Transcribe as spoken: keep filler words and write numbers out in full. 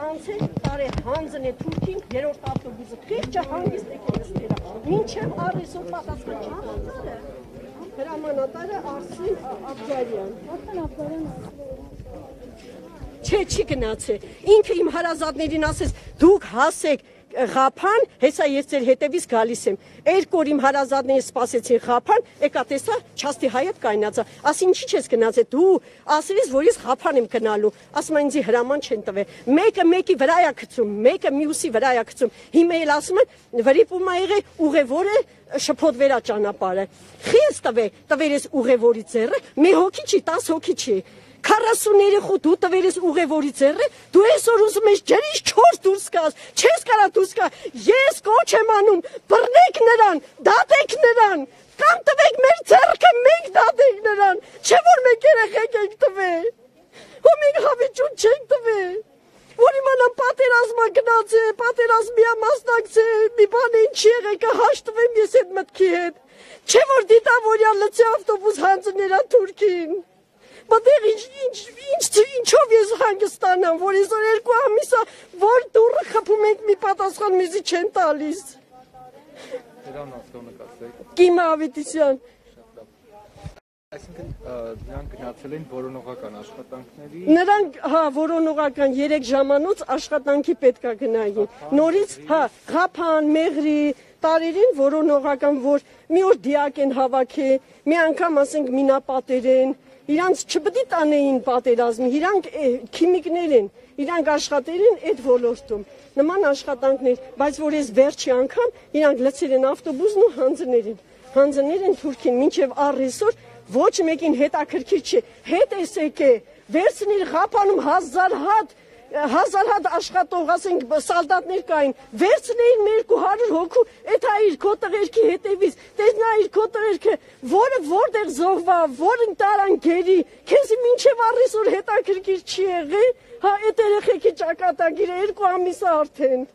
անցել տարի հանձն է Թուրքին երրորդ ավտոբուսը քիչ հանգիստ եկել ստերա մինչև առեսօր պատասխան չհանձնը հրամանատարը Արսին Աբդարյան Արսին Աբդարյան Չէ չի գնացել ինքը իմ հարազատներին ասեց դուք հասեք Ղափան, հեսա ես ձեր հետևից գալիս եմ։ Երկու օր իմ հարազատները սպասեցին Ղափան, եկա տեսա չաստի հայետ կայնացա։ Ասի ինչի՞ չես գնացել, դու ասելիս որ ես Ղափան եմ գնալու։ Ասում են ինձ հրաման չեն տվել։ Մեկը մեկի վրա է գցում, մեկը մյուսի վրա է գցում։ Հիմա էլ ասում են վրիպում ա եղել ուղևորը շփոթվերա ճանապարհը։ Խիս տվել, տվել ես ուղևորի ձեռը, մի հոգի չի, տասը հոգի չի։ քառասուններեք դու տվել ես ուղևորի ձեռը, դու այսօր ուզում ես ջրից չորս դուրս գաս, չես կարա դուրս գա, ես կոչ եմ անում, բռնեք նրան, դատեք նրան, կամ տվեք մեր ձեռքը, մենք դատենք նրան, չէ որ մենք երեխեք ենք տվել, ու մենք հավիճուն չենք տվել, որ իմանամ պատերազմա գնաց է, պատերազմի ա մասնակցել, մի բան ինչի եղել, կհաշտվեմ ես այդ մտքի հետ, չէ որ դիտավորյալ լծի ավտոբուս հանձներա Թուրքին, Բատեղ ինչով ես հանգստանամ, որ ես երկու ամիսա, որ դուրը խփում ենք մի պատասխան մեզի չեն տալիս։ Նրան ավտոնկացեք։ Կիմա Ավետիսյան։ Այսինքն նրանք գնացել են որոնողական աշխատանքների։ Նրանք, հա, որոնողական երեք ժամանոց աշխատանքի պետք է գնային։ Նորից, հա, Ղափան, Մեղրի, տարերին որոնողական, որ մի օր դիակ են հավաքի, մի անգամ ասենք մինապատեր են, իրանց չպետք է տանեին պատերազմի, իրանք քիմիկներ են, իրանք աշխատել են այդ ոլորտում, նման աշխատանքներ, բայց որ ես վերջի անգամ իրանք լցել են ավտոբուսն ու հանձնել են, հանձնել են Թուրքին, մինչև առեսօր ոչ մեկին հետաքրքիր չի, հետ էս եկե, վերցնիր Ղափանում հազար հատ, հազար հատ աշխատող, ասենք սալդատներ կային, վերցնեին երկու հարյուր հոգու, էդ հա իր քո տղերքի հետևից, տեսնա իր քո տղերքը, որը որտեղ զոհվա, որն տարան գերի, քեզի մինչև առեսօր հետաքրքիր չի եղել, հա այդ երեխեքի ճակատագիրը երկու ամիս արդեն։